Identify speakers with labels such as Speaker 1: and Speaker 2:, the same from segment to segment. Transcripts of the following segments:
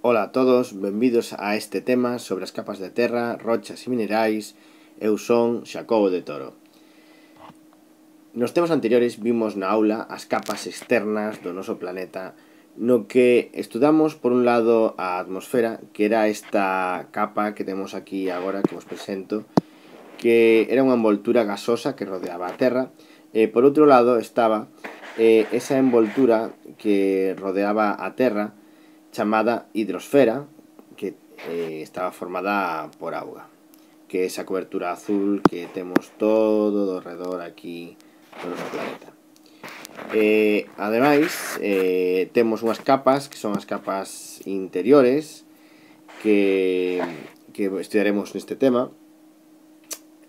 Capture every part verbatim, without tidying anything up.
Speaker 1: Ola a todos, benvidos a este tema sobre as capas de terra, rochas e minerais. Eu son Xacobo de Toro. Nos temas anteriores vimos na aula as capas externas do noso planeta, no que estudamos por un lado a atmosfera, que era esta capa que temos aquí agora que vos presento, que era unha envoltura gasosa que rodeaba a Terra, e por outro lado estaba eh, esa envoltura que rodeaba a Terra chamada hidrosfera, que eh, estaba formada por auga, que é esa cobertura azul que temos todo do redor aquí do noso planeta. Eh, ademais, eh, temos unhas capas que son as capas interiores que, que estudiaremos neste tema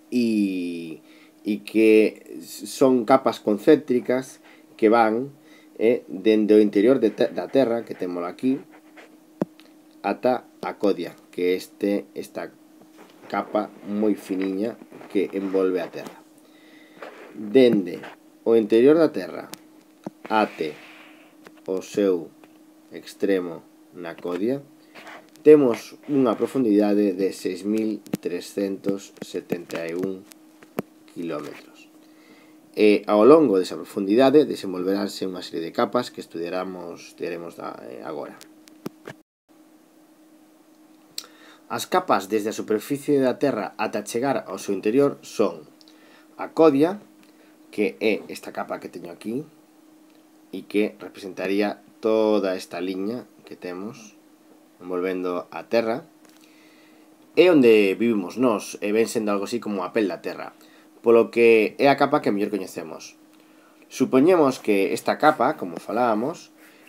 Speaker 1: e, e que son capas concéntricas que van eh, dende o interior de te da Terra, que temos aquí, ata a codia, que este esta capa moi finiña que envolve a Terra. Dende o interior da Terra ate o seu extremo na codia temos unha profundidade de seis mil trescentos setenta e un kilómetros. E ao longo desa profundidade desenvolveránse unha serie de capas que estudiaremos, estudiaremos agora. As capas desde a superficie da Terra ata chegar ao seu interior son a codia, que é esta capa que teño aquí e que representaría toda esta liña que temos envolvendo a Terra, é onde vivimos nós, e ven sendo algo así como a pel da Terra, polo que é a capa que mellor coñecemos. Supoñemos que esta capa, como falábamos,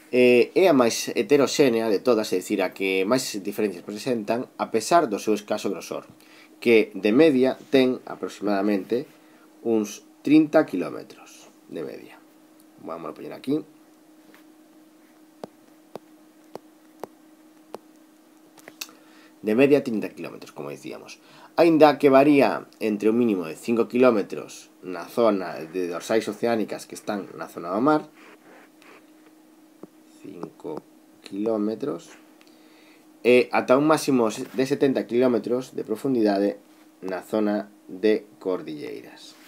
Speaker 1: é a máis heteroxénea de todas, é dicir, a que máis diferencias presentan a pesar do seu escaso grosor, que de media ten aproximadamente uns trinta kilómetros de media. Vamos a poñer aquí. De media trinta kilómetros, como dicíamos. Aínda que varía entre un mínimo de cinco kilómetros na zona de dorsais oceánicas que están na zona do mar, cinco kilómetros, e ata un máximo de setenta kilómetros de profundidade na zona de cordilleiras.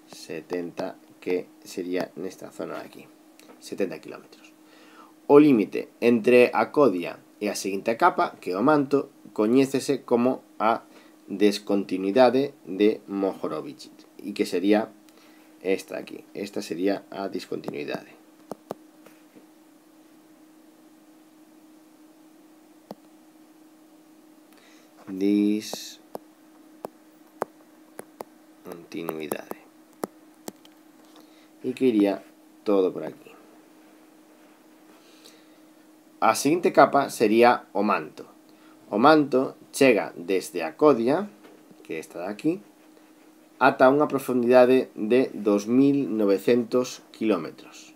Speaker 1: setenta, que sería nesta zona de aquí, setenta kilómetros. O límite entre a codia e a seguinte capa, que é o manto, coñécese como a descontinuidade de Mohorovic, e que sería esta aquí. Esta sería a discontinuidade. Discontinuidade. E que iría todo por aquí. A seguinte capa sería o manto. O manto chega desde a codia, que é esta de aquí, ata unha profundidade de dos mil novecentos kilómetros.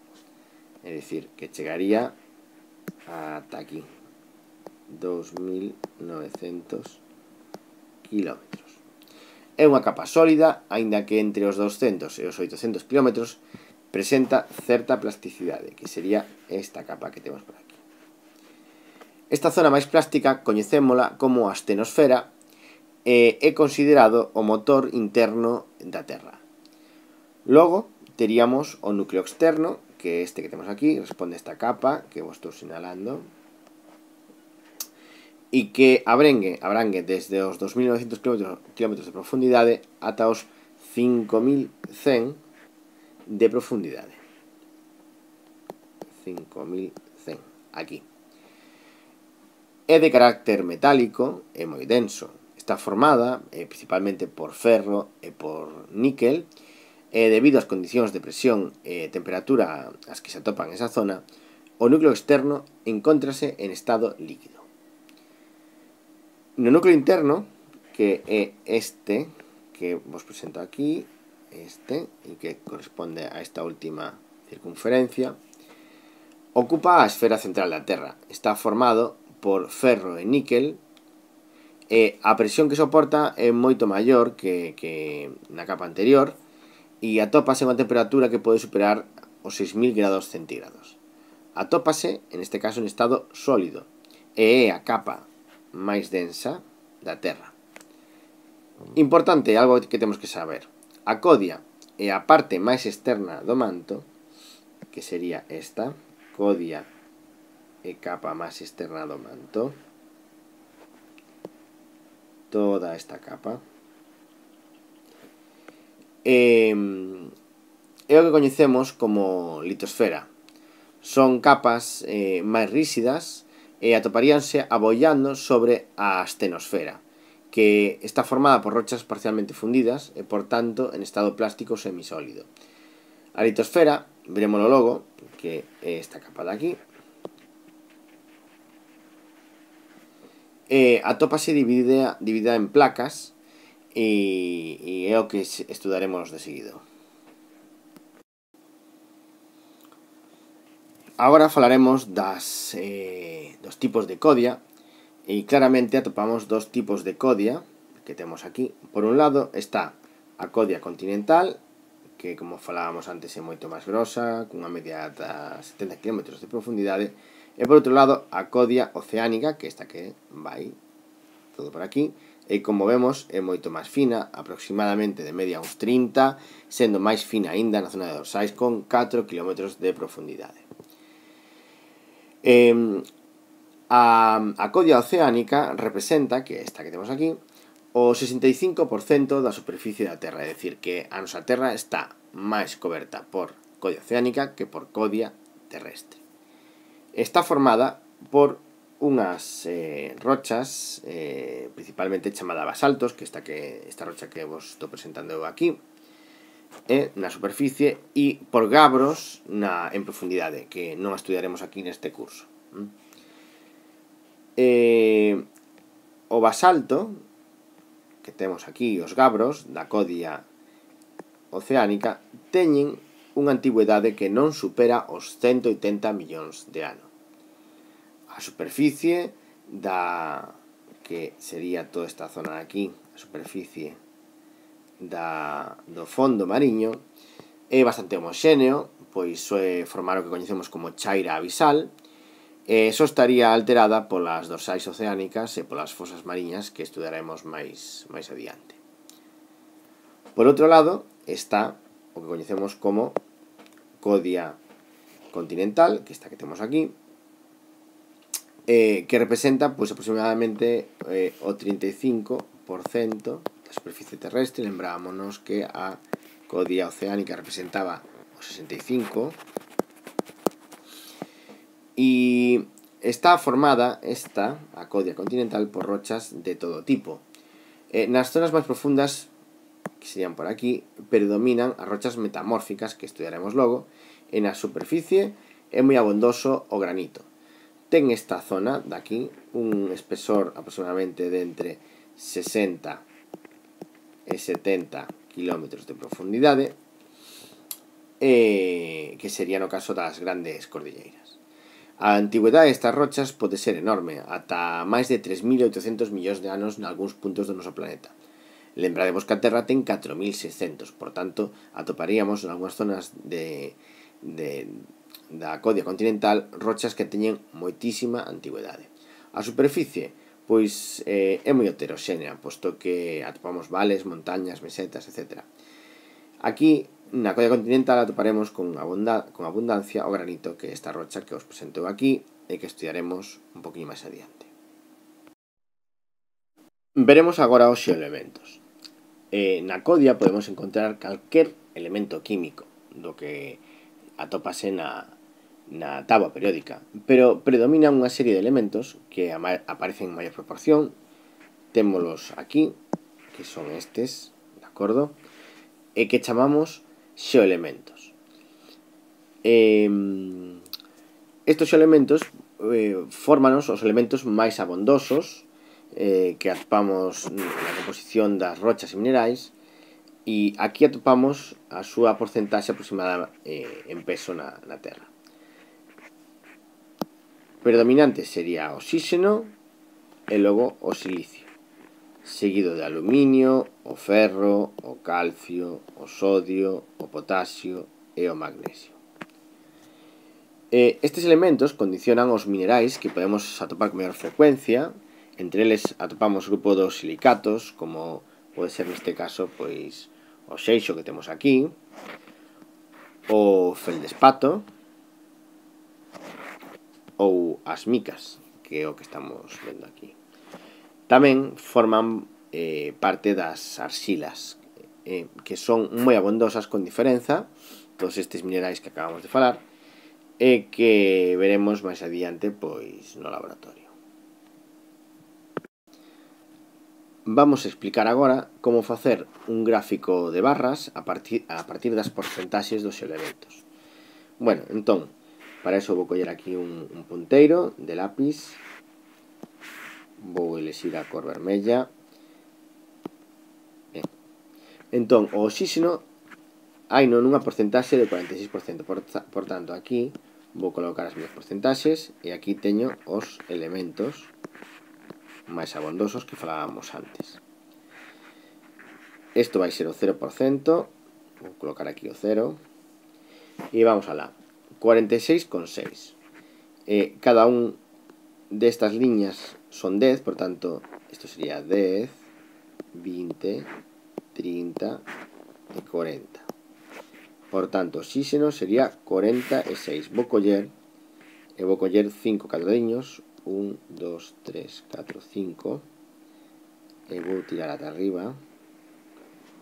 Speaker 1: É dicir, que chegaría ata aquí. dos mil novecentos kilómetros. É unha capa sólida, aínda que entre os douscentos e os oitocentos kilómetros presenta certa plasticidade, que sería esta capa que temos por aquí. Esta zona máis plástica coñecémola como a astenosfera e é considerado o motor interno da Terra. Logo, teríamos o núcleo externo, que é este que temos aquí, responde a esta capa que vos estou sinalando, e que abrangue, abrangue desde os dos mil novecentos kilómetros de profundidade ata os cinco mil cen de profundidade. cinco mil cen, aquí. É de carácter metálico e moi denso. Está formada eh, principalmente por ferro e por níquel, e debido ás condicións de presión e temperatura as que se atopan esa zona, o núcleo externo encóntrase en estado líquido. No núcleo interno, que é este que vos presento aquí, este, e que corresponde a esta última circunferencia, ocupa a esfera central da Terra. Está formado por ferro e níquel, e a presión que soporta é moito maior que, que na capa anterior, e atópase a unha temperatura que pode superar os seis mil grados centígrados. Atópase, en este caso, en estado sólido, e é a capa máis densa da Terra. Importante, algo que temos que saber. A codia é a parte máis externa do manto, que sería esta, codia e capa máis externa do manto. Toda esta capa. E, é o que coñecemos como litosfera. Son capas eh, máis ríxidas e atoparíanse abollando sobre a astenosfera, que está formada por rochas parcialmente fundidas e, por tanto, en estado plástico semisólido. A litosfera, veremoslo logo, que é esta capa de aquí, eh, atópase dividida, dividida en placas e, e é o que estudaremos de seguido. Agora falaremos das, eh, dos tipos de codia e claramente atopamos dos tipos de codia que temos aquí. Por un lado está a codia continental, que como falábamos antes é moito máis grosa, cunha media de setenta kilómetros de profundidade, e por outro lado a codia oceánica, que esta que vai todo por aquí, e como vemos é moito máis fina, aproximadamente de media uns trinta, sendo máis fina aínda na zona de dorsais con catro kilómetros de profundidade. Eh, a, a codia oceánica representa, que é esta que temos aquí, o sesenta e cinco por cento da superficie da Terra, é dicir, que a nosa Terra está máis coberta por codia oceánica que por codia terrestre. Está formada por unhas eh, rochas, eh, principalmente chamada basaltos, que esta, que esta rocha que vos estou presentando eu aquí, e na superficie, e por gabros na, en profundidade, que non estudiaremos aquí neste curso. Eh, o basalto, que temos aquí, os gabros da codia oceánica, teñen unha antigüedade que non supera os ciento oitenta millóns de anos. A superficie da, que sería toda esta zona de aquí, a superficie da, do fondo mariño, é bastante homoxéneo, pois é formar o que coñecemos como chaira abisal, e só estaría alterada polas dorsais oceánicas e polas fosas mariñas que estudaremos máis, máis adiante. Por outro lado está o que coñecemos como codia continental, que esta que temos aquí, eh, que representa pois, aproximadamente eh, o trinta e cinco por cento da superficie terrestre. Lembrámonos que a codia oceánica representaba o sesenta e cinco por cento, e está formada esta, a codia continental, por rochas de todo tipo. Eh, nas zonas máis profundas, que serían por aquí, predominan as rochas metamórficas, que estudiaremos logo, e na superficie é moi abondoso o granito. Ten esta zona de aquí un espesor aproximadamente de entre sesenta e setenta kilómetros de profundidade, eh, que sería no caso das grandes cordilleiras. A antigüedade destas rochas pode ser enorme, ata máis de tres mil oitocentos millóns de anos nalgúns puntos do noso planeta. Lembrademos que a Terra ten catro mil seiscentos, por tanto, atoparíamos en algunhas zonas de, de, da codia continental rochas que teñen moitísima antigüedade. A superficie, pois, eh, é moi heteroxénea, posto que atopamos vales, montañas, mesetas, etcétera. Aquí, na codia continental, atoparemos con, abunda, con abundancia o granito, que é esta rocha que os presento aquí e que estudiaremos un poquinho máis adiante. Veremos agora os xeoelementos. Eh, na codia podemos encontrar calquer elemento químico do que atópase na, na táboa periódica, pero predominan unha serie de elementos que aparecen en maior proporción. Témolos aquí, que son estes, de acordo, e que chamamos xeoelementos. Eh, estos xeoelementos eh, fórmanos os elementos máis abondosos eh, que atopamos na composición das rochas e minerais, e aquí atopamos a súa porcentaxe aproximada eh, en peso na, na Terra. Predominante sería o oxígeno e logo o silicio, seguido de aluminio, o ferro, o calcio, o sodio, o potasio e o magnesio. Eh, estes elementos condicionan os minerais que podemos atopar con maior frecuencia. Entre eles atopamos o grupo dos silicatos, como pode ser neste caso pois o xeixo que temos aquí, o feldespato ou as micas, que é o que estamos vendo aquí. Tamén forman eh, parte das arxilas, eh, que son moi abondosas con diferenza, todos estes minerais que acabamos de falar, e que veremos máis adiante pois no laboratorio. Vamos a explicar agora como facer un gráfico de barras a partir, a partir das porcentaxes dos elementos. Bueno, entón, para iso vou coller aquí un, un punteiro de lápis, vou elexir a cor vermella. Ben. Entón, o oxígeno hai non unha porcentaxe de cuarenta e seis por cento, por, por tanto, aquí vou colocar as miñas porcentaxes e aquí teño os elementos máis abondosos que falábamos antes. Isto vai ser o cero por cento, vou colocar aquí o cero, e vamos alá, cuarenta e seis coma seis. Eh, cada un destas liñas son dez, por tanto, isto sería dez, vinte, trinta e cuarenta. Por tanto, oxígeno sería cuarenta e seis. Vou coller, e vou coller cinco cadradiños, un, dos, tres, catro, cinco, e vou tirar ata arriba,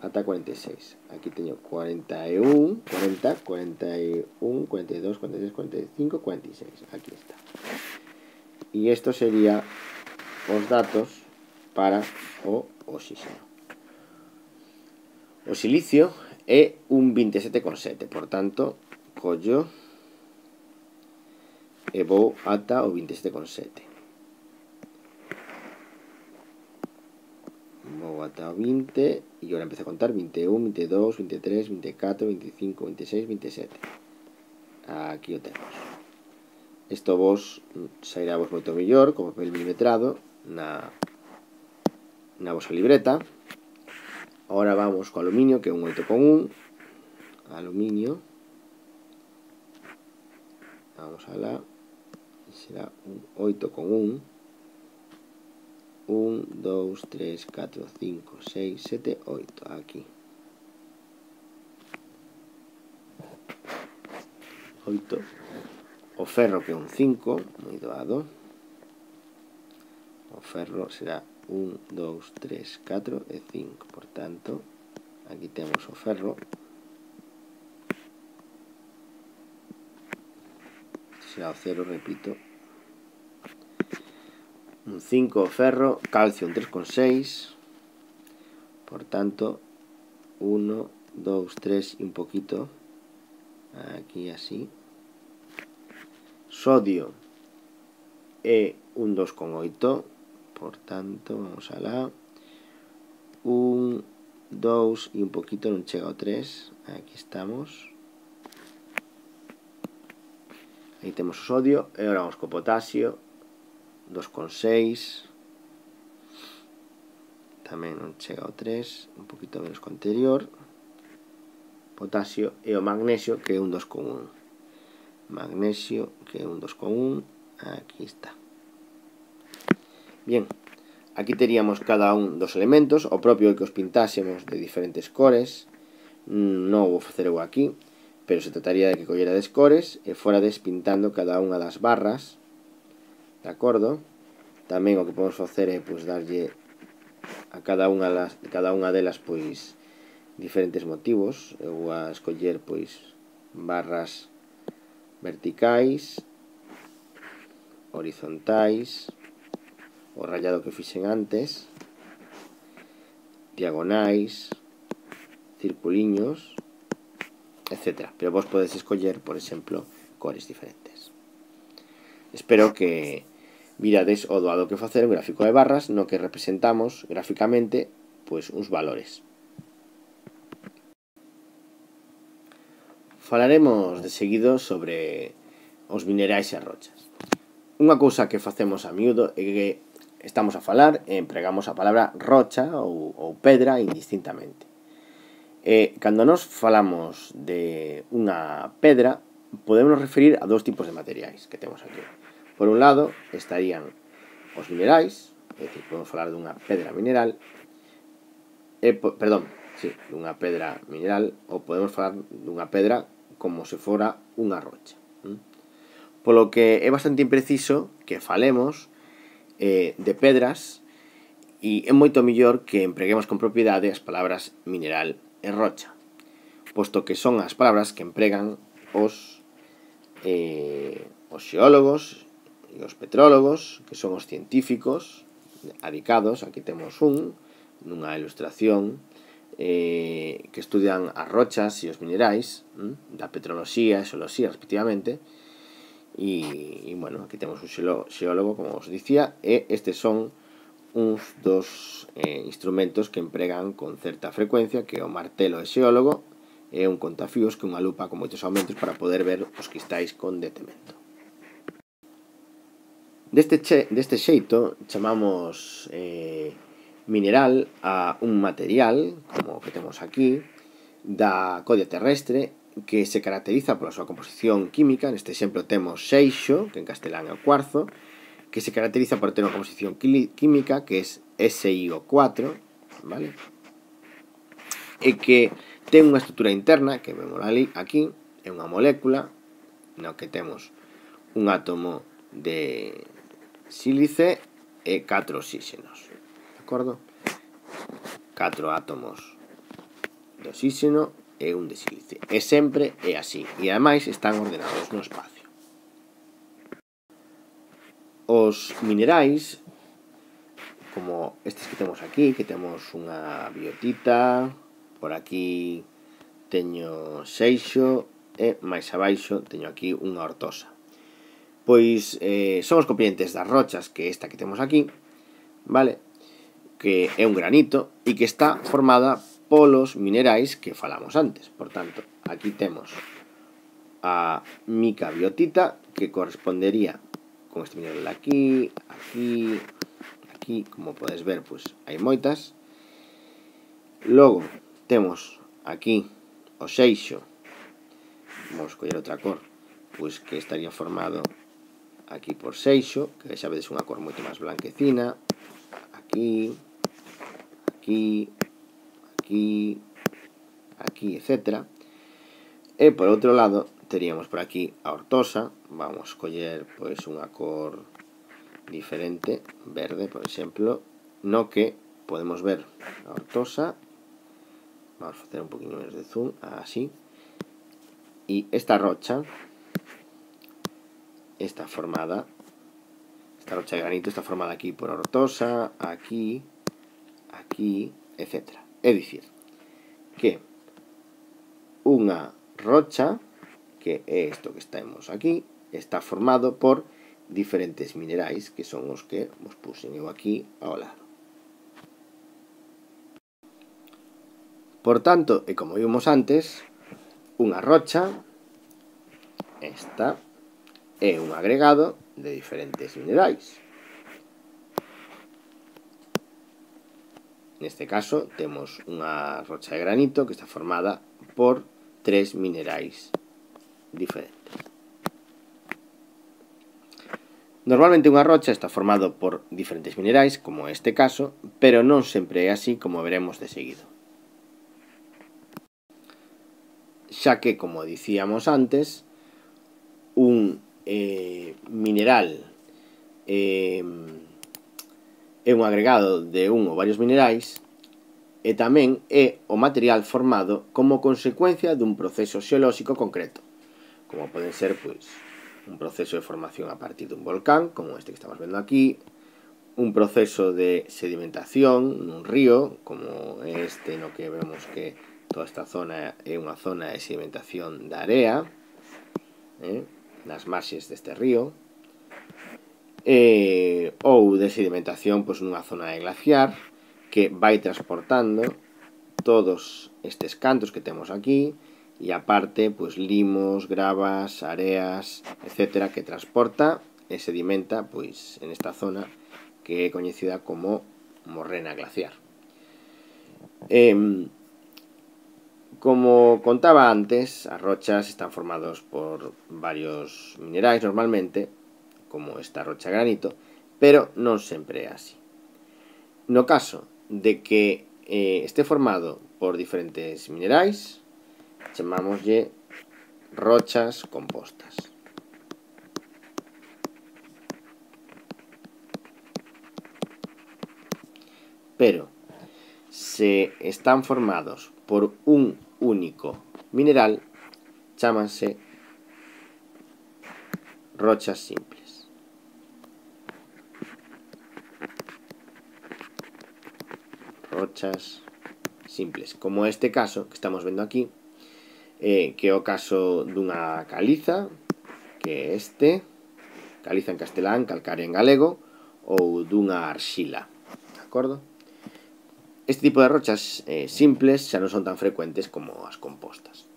Speaker 1: ata cuarenta e seis. Aquí teño cuarenta e un, cuarenta, cuarenta e un, cuarenta e dos, cuarenta e tres, cuarenta e cinco, cuarenta e seis. Aquí está. E isto sería os datos para o oxígeno. O silicio é un vinte e sete coma sete, por tanto, collo e vou ata o vinte e sete coma sete. Vou ata o vinte e agora empezo a contar vinte e un, vinte e dous, vinte e tres, vinte e catro, vinte e cinco, vinte e seis, vinte e sete. Aquí o temos. Isto vos sairá vos moito mellor como papel milimetrado na, na vosa libreta. Ahora vamos co aluminio, que é un oito coma un. Aluminio. Vamos a la. Será un oito coma un. un, dos, tres, catro, cinco, seis, sete, oito. Aquí. oito. O ferro, que é un cinco, moi doado. O ferro será un, dos, tres, catro e cinco. Por tanto, aquí temos o ferro. Será o cero, repito. Un cinco o ferro, calcio un tres coma seis. Por tanto, uno, dos, tres y un poquito. Aquí así. Sodio é un dos coma oito. Por tanto, vamos a la. un, dos y un poquito, non chega ao tres. Aquí estamos. Aí temos o sodio. E agora vamos co potasio. dos coma seis. Tamén non chega ao tres. Un poquito menos que o anterior. Potasio. E o magnesio, que é un dos coma un. Magnesio, que é un dos coma un. Aquí está. Bien. Aquí teríamos cada un dos elementos. O propio que os pintásemos de diferentes cores. Non vou facer eu aquí, pero se trataría de que collerades cores e forades pintando cada unha das barras. De acordo? Tamén o que podemos facer é pois darlle a cada unha das, cada unha delas pois diferentes motivos. Eu vou a escoller pois barras verticais, horizontais, o rayado que fixen antes, diagonais, circuliños, etcétera. Pero vos podes escoller, por exemplo, cores diferentes. Espero que virades o doado que facer un gráfico de barras no que representamos gráficamente pois uns valores. Falaremos de seguido sobre os minerais e as rochas. Unha cousa que facemos a miúdo é que estamos a falar e empregamos a palabra rocha ou, ou pedra indistintamente. E cando nos falamos de unha pedra, podemos referir a dous tipos de materiais que temos aquí. Por un lado, estarían os minerais, é dicir, podemos falar dunha pedra mineral, e, perdón, sí, dunha pedra mineral, ou podemos falar dunha pedra como se fora unha rocha. Polo que é bastante impreciso que falemos eh, de pedras, e é moito mellor que empreguemos con propiedade as palabras mineral e rocha, posto que son as palabras que empregan os, eh, os xeólogos e os petrólogos, que son os científicos adicados. Aquí temos un, nunha ilustración, eh, que estudian as rochas e os minerais, hm, da petroloxía e xeoloxía respectivamente. E, e, bueno, aquí temos un xeólogo, como os dicía, e estes son uns dos eh, instrumentos que empregan con certa frecuencia, que é o martelo de xeólogo e un contafíos, que é unha lupa con moitos aumentos para poder ver os cristais con detemento. Deste, che, deste xeito chamamos eh, mineral a un material, como o que temos aquí, da codia terrestre, que se caracteriza pola súa composición química. Neste exemplo temos seixo, que en castelán é o cuarzo, que se caracteriza por ter unha composición química que é S I O cuatro, vale? E que ten unha estrutura interna, que vemos ali, aquí, é unha molécula, no que temos un átomo de sílice e catro oxígenos, de acordo? Catro átomos de oxígeno e un de sílice. E sempre é así, e ademais están ordenados no espacio. Os minerais, como estes que temos aquí, que temos unha biotita, por aquí teño seixo e máis abaixo teño aquí unha ortosa. Pois eh, son os componentes das rochas, que esta que temos aquí, vale? Que é un granito e que está formada polos minerais que falamos antes. Por tanto, aquí temos a mica biotita, que correspondería con este mineral aquí, aquí, aquí, como podes ver, pois hai moitas. Logo temos aquí o seixo, vamos coller outra cor, pois que estaría formado aquí por seixo, que xa vedes unha cor moito máis blanquecina, aquí, aquí, aquí, aquí, etcétera. E por outro lado teríamos por aquí a ortosa. Vamos coller pois unha cor diferente, verde, por exemplo, no que podemos ver a ortosa. Vamos a facer un poquinho menos de zoom, así. E esta rocha está formada, esta rocha de granito está formada aquí por ortosa, aquí, aquí, etcétera. É dicir, que unha rocha, que é isto que estamos aquí, está formado por diferentes minerais, que son os que vos puxen eu aquí ao lado. Por tanto, e como vimos antes, unha rocha, esta, é un agregado de diferentes minerais. Neste caso, temos unha rocha de granito que está formada por tres minerais diferentes. Normalmente unha rocha está formado por diferentes minerais, como este caso, pero non sempre é así, como veremos de seguido. Xa que, como dicíamos antes, un eh, mineral eh, é un agregado de un ou varios minerais, e tamén é o material formado como consecuencia dun proceso xeolóxico concreto, como poden ser pois un proceso de formación a partir dun volcán, como este que estamos vendo aquí, un proceso de sedimentación nun río, como este no que vemos que toda esta zona é unha zona de sedimentación da area, eh, nas marxes deste río, eh, ou de sedimentación pois nunha zona de glaciar, que vai transportando todos estes cantos que temos aquí, e aparte, pois, limos, gravas, areas, etcétera, que transporta e sedimenta, pois, en esta zona que é coñecida como morrena glaciar. Eh, Como contaba antes, as rochas están formados por varios minerais normalmente, como esta rocha granito, pero non sempre é así. No caso de que eh, este formado por diferentes minerais, chamámoslle rochas compostas. Pero se están formados por un único mineral, chámanse rochas simples. Rochas simples, como este caso que estamos vendo aquí, eh, que é o caso dunha caliza, que é este, caliza en castelán, calcárea en galego, ou dunha arxila, de acordo? Este tipo de rochas eh, simples xa non son tan frecuentes como as compostas.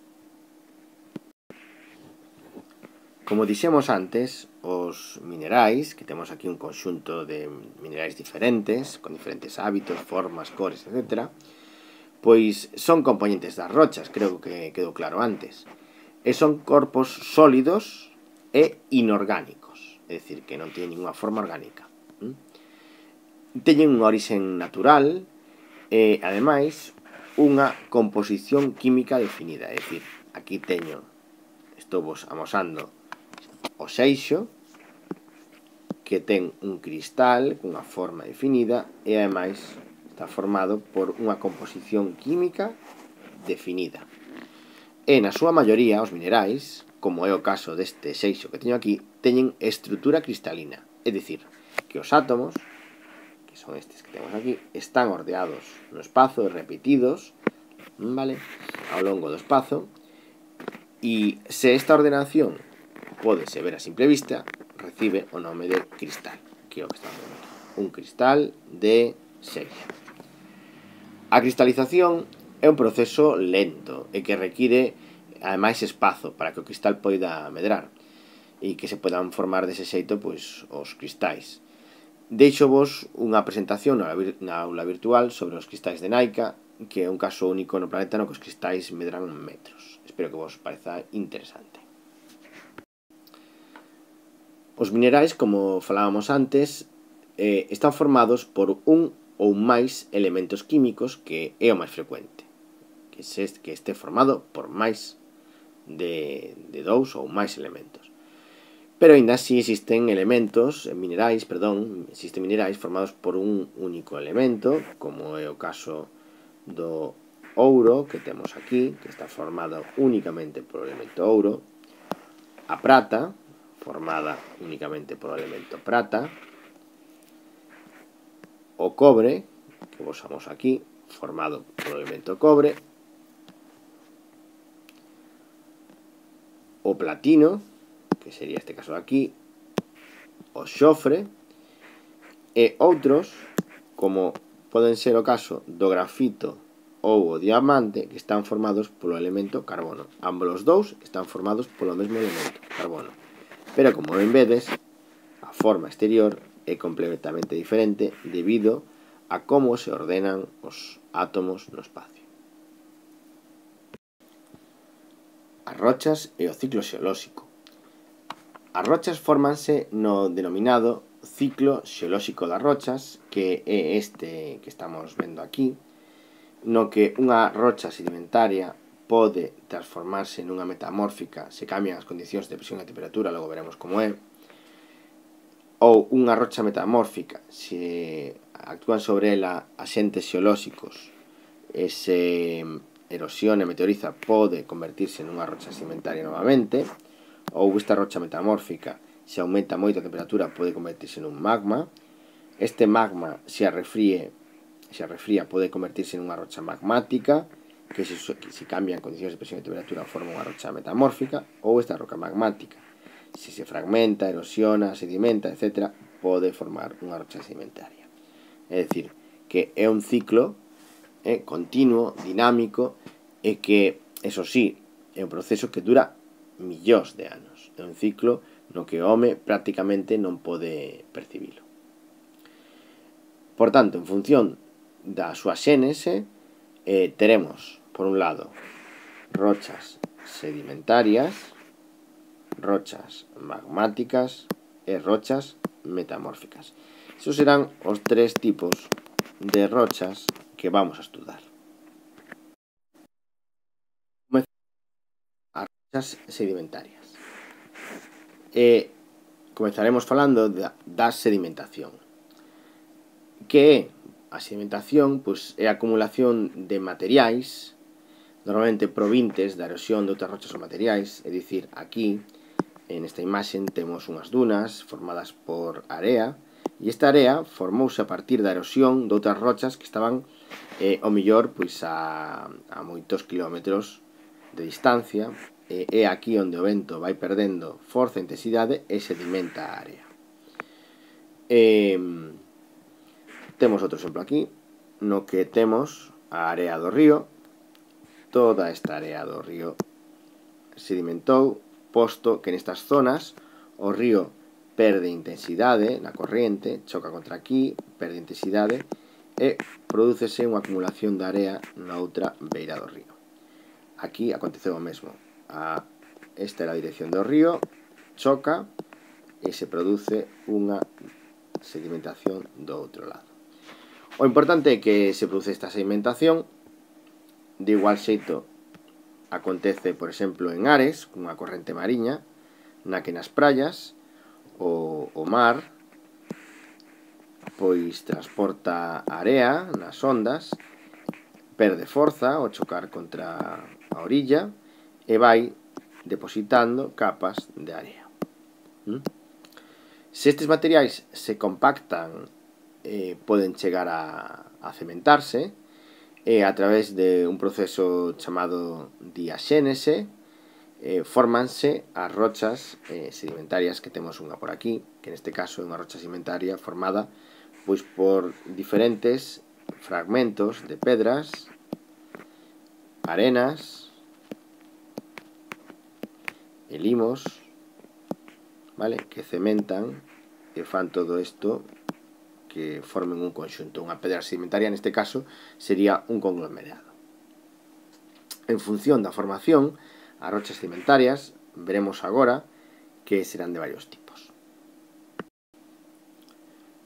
Speaker 1: Como dixemos antes, os minerais, que temos aquí un conxunto de minerais diferentes, con diferentes hábitos, formas, cores, etcétera, pois son componentes das rochas, creo que quedou claro antes. E son corpos sólidos e inorgánicos, é dicir, que non teñen ninguna forma orgánica. Teñen unha orixen natural e, ademais, unha composición química definida, é dicir, aquí teño, estou vos amosando o seixo, que ten un cristal cunha forma definida e, ademais, está formado por unha composición química definida. E, na súa maioría, os minerais, como é o caso deste seixo que teño aquí, teñen estrutura cristalina, é dicir, que os átomos, que son estes que temos aquí, están ordeados no espazo, repetidos, vale, ao longo do espazo, e se esta ordenación pódese ver a simple vista, recibe o nome de cristal, que é o que estamos vendo aquí, un cristal de seixo. A cristalización é un proceso lento e que require, ademais, espazo para que o cristal poida medrar e que se podan formar dese xeito pois, os cristais. Deixo vos unha presentación na aula virtual sobre os cristais de Naica, que é un caso único no planeta no que os cristais medran metros. Espero que vos pareza interesante. Os minerais, como falábamos antes, eh, están formados por un ou máis elementos químicos, que é o máis frecuente, que este formado por máis de, de dous ou máis elementos. Pero ainda así existen elementos, minerais, perdón, existen minerais formados por un único elemento, como é o caso do ouro que temos aquí, que está formado únicamente por o elemento ouro, a prata, formada únicamente por o elemento prata, o cobre, que vos amoso aquí, formado por o elemento cobre, o platino, que sería este caso de aquí, o xofre, e outros, como poden ser o caso do grafito ou o diamante, que están formados polo elemento carbono. Ambos os dous están formados polo mesmo elemento, carbono. Pero, como ben vedes, a forma exterior é completamente diferente debido a como se ordenan os átomos no espacio. As rochas e o ciclo xeolóxico. As rochas fórmanse no denominado ciclo xeolóxico das rochas, que é este que estamos vendo aquí, no que unha rocha sedimentaria pode transformarse nunha metamórfica se cambian as condicións de presión e temperatura, logo veremos como é, ou unha rocha metamórfica se actúan sobre ela axentes xeolóxicos e se erosiona e meteoriza pode convertirse nunha rocha sedimentaria novamente, ou esta rocha metamórfica se aumenta moito a temperatura pode convertirse nun magma. Este magma se arrefríe se arrefría pode convertirse nunha rocha magmática, que se, se cambian condicións de presión e temperatura forma unha rocha metamórfica, ou esta roca magmática se se fragmenta, erosiona, sedimenta, etcétera, pode formar unha rocha sedimentaria. É dicir, que é un ciclo eh, continuo, dinámico, e que, eso sí, é un proceso que dura millóns de anos. É un ciclo no que o home prácticamente non pode percibilo. Por tanto, en función da súa xénese, eh, teremos, por un lado, rochas sedimentarias, rochas magmáticas e rochas metamórficas. Esos serán os tres tipos de rochas que vamos a estudar. As rochas sedimentarias. E comezaremos falando da, da sedimentación. Que é a sedimentación? Pois é a acumulación de materiais, normalmente provintes da erosión de outras rochas ou materiais, é dicir, aquí, en esta imaxe, temos unhas dunas formadas por area, e esta area formouse a partir da erosión de outras rochas que estaban eh, ao mellor pois a, a moitos kilómetros de distancia, e é aquí onde o vento vai perdendo forza e intensidade e sedimenta a área. E, temos outro exemplo aquí, no que temos a area do río, toda esta area do río sedimentou, posto que nestas zonas o río perde intensidade na corriente, choca contra aquí, perde intensidade e prodúcese unha acumulación de area na outra beira do río. Aquí aconteceu o mesmo. A, esta é a dirección do río, choca e se produce unha sedimentación do outro lado. O importante é que se produce esta sedimentación de igual xeito acontece, por exemplo, en Ares, cunha corrente mariña, na que nas praias o, o mar pois transporta area nas ondas, perde forza ao chocar contra a orilla e vai depositando capas de area. ¿Mm? Se estes materiais se compactan, eh, poden chegar a, a cementarse, e a través de un proceso chamado diaxénese eh, formanse as rochas eh, sedimentarias, que temos unha por aquí, que neste caso é unha rocha sedimentaria formada pois por diferentes fragmentos de pedras, arenas e limos, vale, que cementan e fan todo isto que formen un conxunto. Unha pedra sedimentaria, neste caso, sería un conglomerado. En función da formación, as rochas sedimentarias, veremos agora que serán de varios tipos.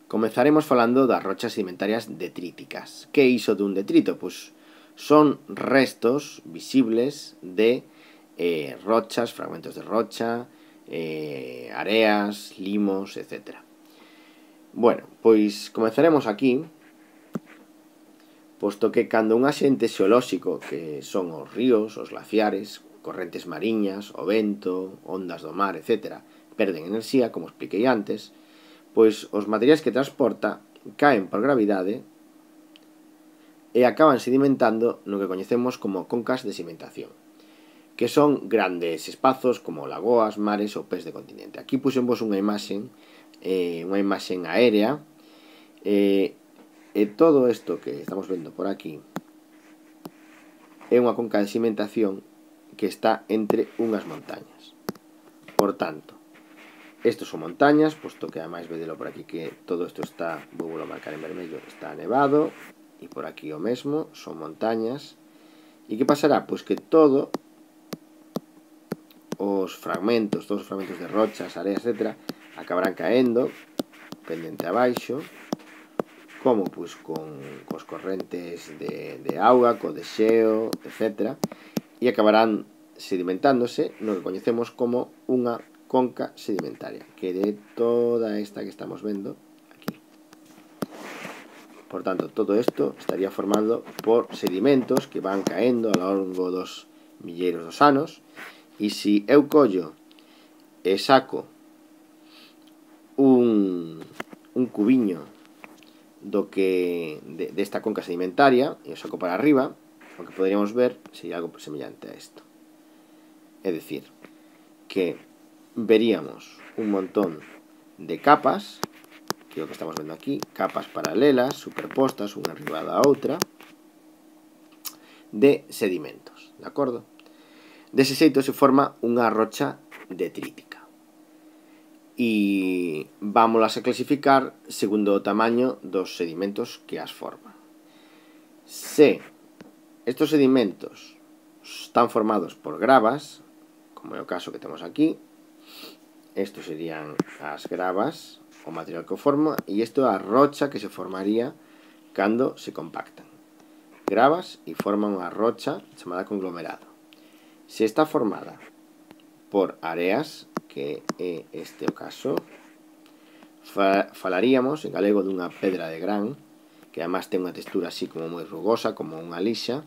Speaker 1: Comezaremos falando das rochas sedimentarias detríticas. Que é iso dun detrito? Pois son restos visibles de eh, rochas, fragmentos de rocha, eh, areas, limos, etcétera. Bueno, pois comezaremos aquí, posto que cando un axente xeolóxico, que son os ríos, os glaciares, correntes mariñas, o vento, ondas do mar, etcétera, perden enerxía, como expliquei antes, pois os materiais que transporta caen por gravidade e acaban sedimentando no que coñecemos como concas de sedimentación, que son grandes espazos como lagoas, mares ou pés de continente. Aquí puxemos unha imaxe Eh, unha imaxe aérea eh, e todo isto que estamos vendo por aquí é unha conca de sedimentación que está entre unhas montañas. Por tanto, estos son montañas, posto que ademais vedelo por aquí que todo isto está, vou a marcar en vermello, está nevado, e por aquí o mesmo, son montañas. E que pasará? Pois que todo os fragmentos, todos os fragmentos de rochas, areas, etcétera, acabarán caendo pendente abaixo, como pois con cos correntes de, de auga, co deseo, etcétera, e acabarán sedimentándose no que coñecemos como unha conca sedimentaria, que é toda esta que estamos vendo aquí. Por tanto, todo isto estaría formado por sedimentos que van caendo ao longo dos milleiros dos anos, e se eu collo e saco un, un cubiño do que de, desta conca sedimentaria e o saco para arriba, o que poderíamos ver sería algo semellante a isto. É dicir, que veríamos un montón de capas, que é o que estamos vendo aquí, capas paralelas, superpostas, unha arriba da outra, de sedimentos, de acordo? Dese xeito se forma unha rocha detrítica. E vámolas a clasificar segundo o tamaño dos sedimentos que as forman. Se estos sedimentos están formados por gravas, como é o caso que temos aquí. Estos serían as gravas, o material que o forma, e isto é a rocha que se formaría cando se compactan. Gravas e forman unha rocha chamada conglomerado. Se está formada por areas, que é este o caso, fa falaríamos en galego dunha pedra de gran, que además ten unha textura así como moi rugosa, como unha lixa,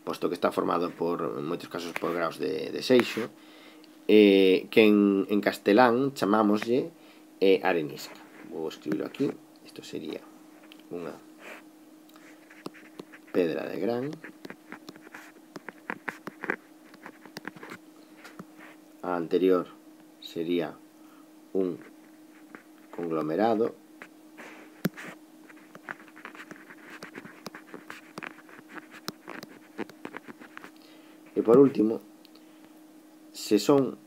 Speaker 1: posto que está formado por, en moitos casos, por graos de, de seixo, eh, que en, en castelán chamámoslle eh, arenisca. Vou escribirlo aquí. Isto sería unha pedra de gran. A anterior sería un conglomerado. E por último, se son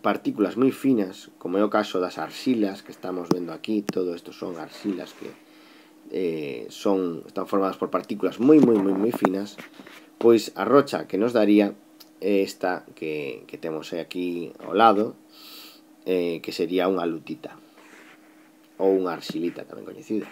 Speaker 1: partículas moi finas, como é o caso das arxilas que estamos vendo aquí, todo isto son arxilas que eh, son, están formadas por partículas moi, moi, moi, moi finas, pois a rocha que nos daría é esta que, que temos aquí ao lado, eh, que sería unha lutita, ou unha arxilita tamén coñecida.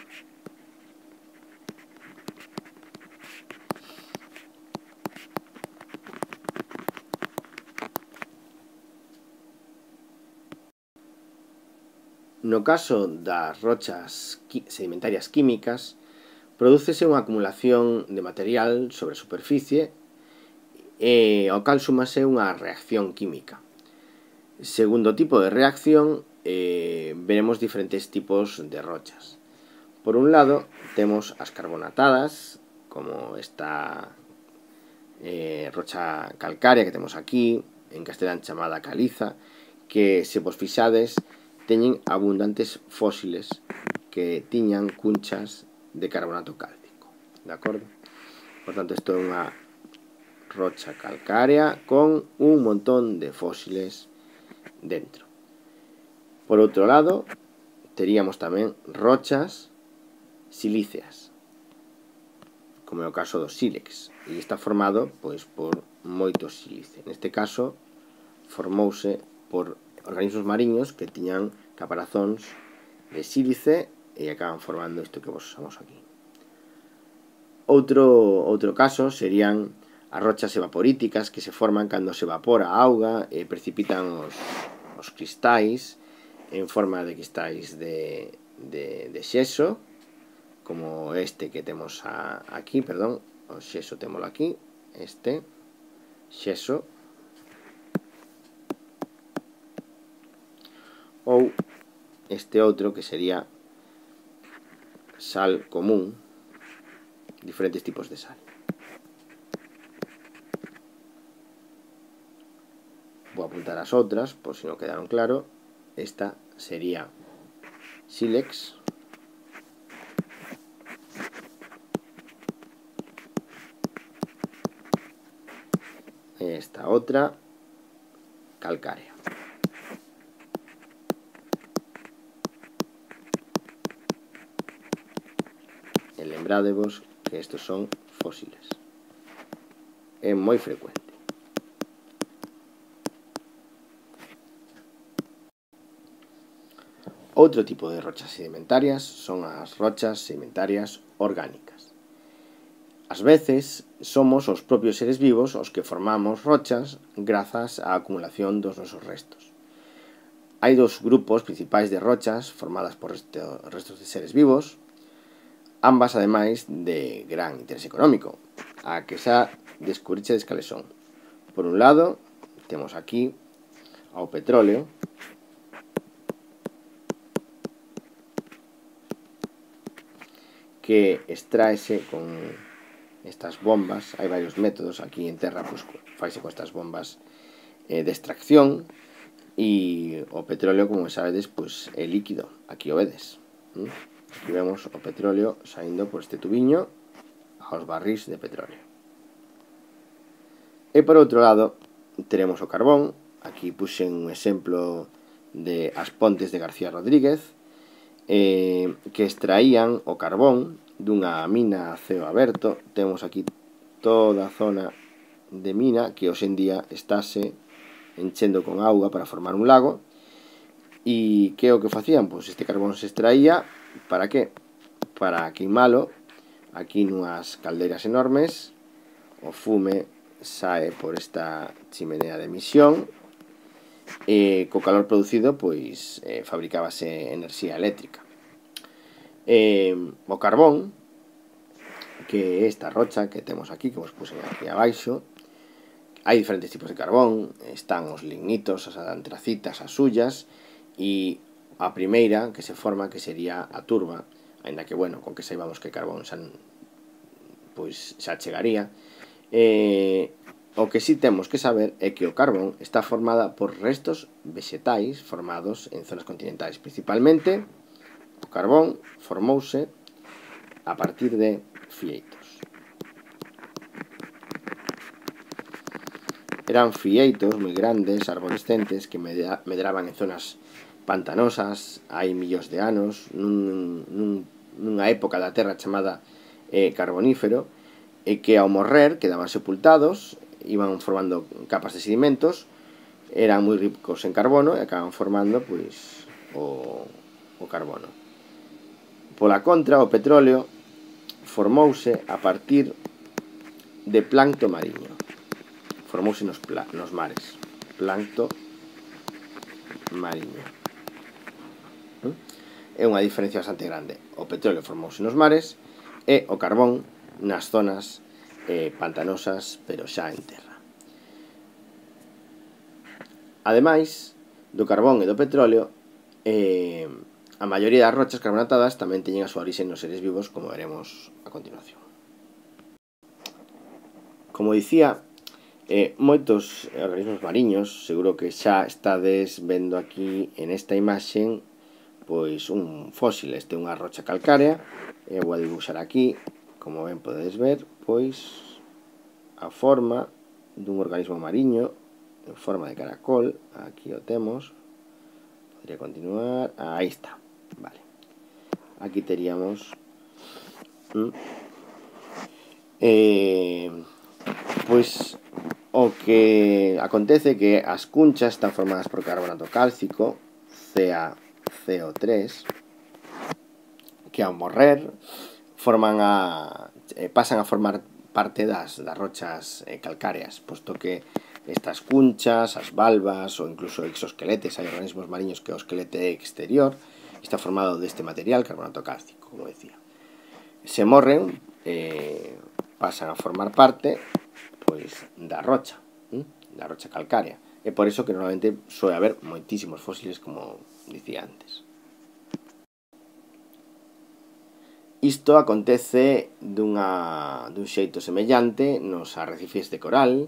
Speaker 1: No caso das rochas sedimentarias químicas, prodúcese unha acumulación de material sobre a superficie e ao cal súmase unha reacción química. Segundo tipo de reacción, eh, veremos diferentes tipos de rochas. Por un lado, temos as carbonatadas, como esta eh, rocha calcárea que temos aquí, en castelán chamada caliza, que se vos fixades teñen abundantes fósiles que tiñan cunchas de carbonato cálcico, de acordo? Por tanto, isto é unha rocha calcárea con un montón de fósiles dentro. Por outro lado, teríamos tamén rochas silíceas, como é o caso do sílex, e está formado pois por moitos sílice. Neste caso, formouse por organismos mariños que tiñan caparazóns de sílice e acaban formando isto que vos usamos aquí. Outro, outro caso serían as rochas evaporíticas que se forman cando se evapora a auga e precipitan os, os cristais en forma de cristais de, de, de xeso, como este que temos a, aquí, perdón, o xeso témolo aquí, este xeso, ou este outro que sería sal común, diferentes tipos de sal. Vou apuntar as outras, por si non quedaron claro. Esta sería sílex, e esta outra calcárea. E lembrádevos que estos son fósiles. É moi frecuente. Outro tipo de rochas sedimentarias son as rochas sedimentarias orgánicas. Ás veces somos os propios seres vivos os que formamos rochas grazas á acumulación dos nosos restos. Hai dos grupos principais de rochas formadas por restos de seres vivos, ambas ademais de gran interés económico, a que xa descubrichedes cales son. Por un lado, temos aquí ao petróleo, que extraese con estas bombas. Hai varios métodos aquí en terra, pues, faise con estas bombas eh, de extracción, e o petróleo, como sabedes, pues, é líquido. Aquí o vedes. ¿Mm? Aquí vemos o petróleo saindo por este tubiño aos barrís de petróleo. E por outro lado, teremos o carbón. Aquí puxen un exemplo de As Pontes de García Rodríguez, eh, que extraían o carbón dunha mina a ceo aberto. Temos aquí toda a zona de mina que hoxe en día estáse enchendo con auga para formar un lago. E que é o que facían? Pois este carbón se extraía para que? Para queimalo aquí nunhas caldeiras enormes. O fume sae por esta chimenea de emisión e co calor producido pois eh, fabricábase enerxía eléctrica. Eh, o carbón, que é esta rocha que temos aquí, que vos puse aquí abaixo, hai diferentes tipos de carbón. Están os lignitos, as antracitas, as sullas, e a primeira que se forma que sería a turba, ainda que, bueno, con que saibamos que carbón xa, pois, xa chegaría. Eh, o que sí temos que saber é que o carbón está formada por restos vexetais formados en zonas continentais. Principalmente, o carbón formouse a partir de fieitos. Eran fieitos moi grandes, arborescentes, que medraban en zonas pantanosas hai millóns de anos, nun, nun, nunha época da Terra chamada eh, carbonífero, e que ao morrer quedaban sepultados, iban formando capas de sedimentos, eran moi ricos en carbono e acaban formando pois o, o carbono. Pola contra, o petróleo formouse a partir de plancto mariño. Formouse nos, nos mares. Plancto mariño. É unha diferencia bastante grande. O petróleo formouse nos mares e o carbón nas zonas eh, pantanosas, pero xa en terra. Ademais do carbón e do petróleo, eh, a maioría das rochas carbonatadas tamén teñen a súa orixe nos seres vivos, como veremos a continuación. Como dicía, eh, moitos organismos mariños, seguro que xa estades vendo aquí en esta imaxe pois un fósil. Este é unha rocha calcárea, e vou a dibuixar aquí, como ben podedes ver, pois a forma dun organismo mariño en forma de caracol. Aquí o temos. Podría continuar. Aí está. Vale. Aquí teríamos ¿Mm? eh, pois o que acontece que as cunchas están formadas por carbonato cálcico, C a C O tres, que ao morrer forman a, eh, pasan a formar parte das, das rochas eh, calcáreas, posto que estas cunchas, as valvas ou incluso exoesqueletes, hai organismos mariños que o esquelete exterior está formado deste material, carbonato cálcico, como decía. Se morren, eh, pasan a formar parte pois da rocha, ¿eh? da rocha calcárea. É por iso que normalmente soe haber moitísimos fósiles, como dicía antes. Isto acontece dunha, dun xeito semellante nos arrecifes de coral,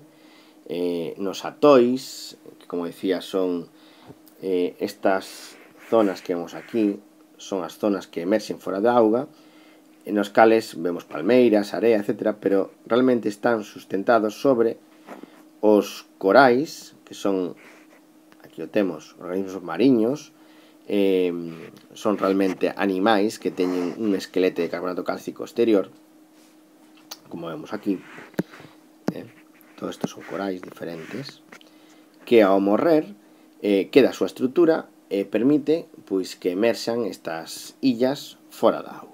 Speaker 1: eh, nos atois, que como decía son eh, estas zonas que vemos aquí, son as zonas que emerxen fora da auga, en os cales vemos palmeiras, area, etcétera, pero realmente están sustentados sobre os corais, que son, aquí o temos, organismos mariños, eh, son realmente animais que teñen un esquelete de carbonato cálcico exterior, como vemos aquí. Eh, todo isto son corais diferentes, que ao morrer eh, queda a súa estrutura e permite pois que emerxan estas illas fora da auga.